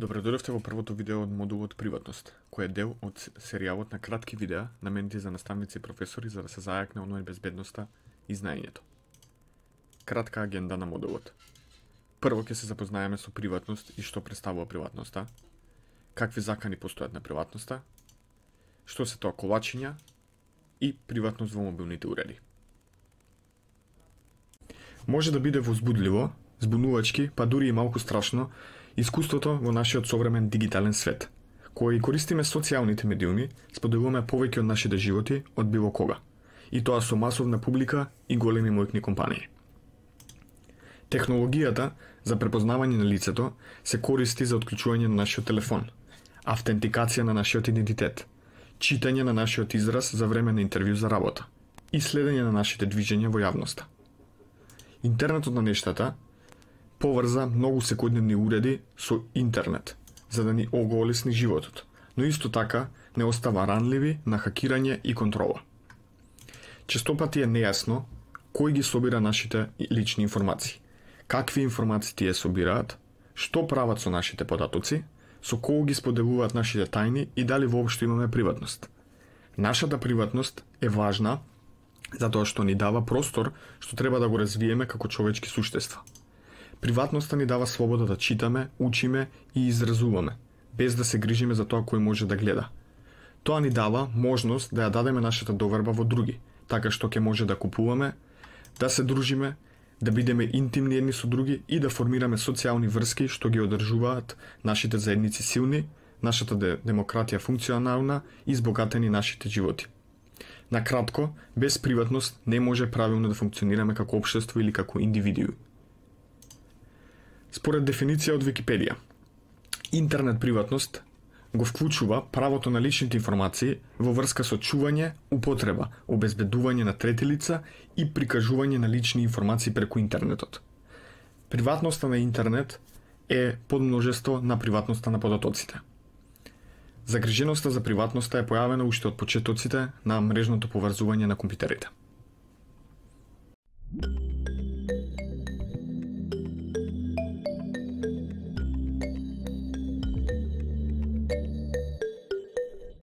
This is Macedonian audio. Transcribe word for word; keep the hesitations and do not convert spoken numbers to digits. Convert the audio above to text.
Добредојдовте во првото видео од модулот Приватност, кој е дел од серијалот на кратки видеа наменети за наставници и професори за да се зајакне онлайн безбедноста и знаењето. Кратка агенда на модулот. Прво ќе се запознаеме со приватност и што представува приватноста, какви закани постојат на приватноста, што се тоа колачиња и приватност во мобилните уреди. Може да биде возбудливо, збунувачки, па дури и малку страшно искуството во нашиот современ дигитален свет, кој користиме социјалните медиуми, споделуваме повеќе од нашите животи од било кога, и тоа со масовна публика и големи моќни компании. Технологијата за препознавање на лицето се користи за отклучување на нашиот телефон, автентикација на нашиот идентитет, читање на нашиот израз за време на интервју за работа и следење на нашите движења во јавноста. Интернетот на нештата поврза многу секојдневни уреди со интернет, за да ни оголесни животот, но исто така не остава ранливи на хакирање и контрола. Честопати е нејасно кој ги собира нашите лични информации, какви информации тие собираат, што прават со нашите податоци, со кого ги споделуваат нашите тајни и дали воопшто имаме приватност. Нашата приватност е важна затоа што ни дава простор што треба да го развиеме како човечки суштества. Приватноста ни дава слобода да читаме, учиме и изразуваме, без да се грижиме за тоа кој може да гледа. Тоа ни дава можност да ја дадеме нашата доверба во други, така што ќе може да купуваме, да се дружиме, да бидеме интимни едни со други и да формираме социјални врски што ги одржуваат нашите заедници силни, нашата демократија функционална и збогатени нашите животи. На кратко, без приватност не може правилно да функционираме како општество или како индивидуи. Според дефиниција од Википедија, интернет приватност го вклучува правото на личните информации во врска со чување, употреба, обезбедување на трети лица и прикажување на лични информации преку интернетот. Приватноста на интернет е подмножество на приватноста на податоците. Загриженоста за приватноста е појавена уште од почетоците на мрежното поврзување на компјутерите.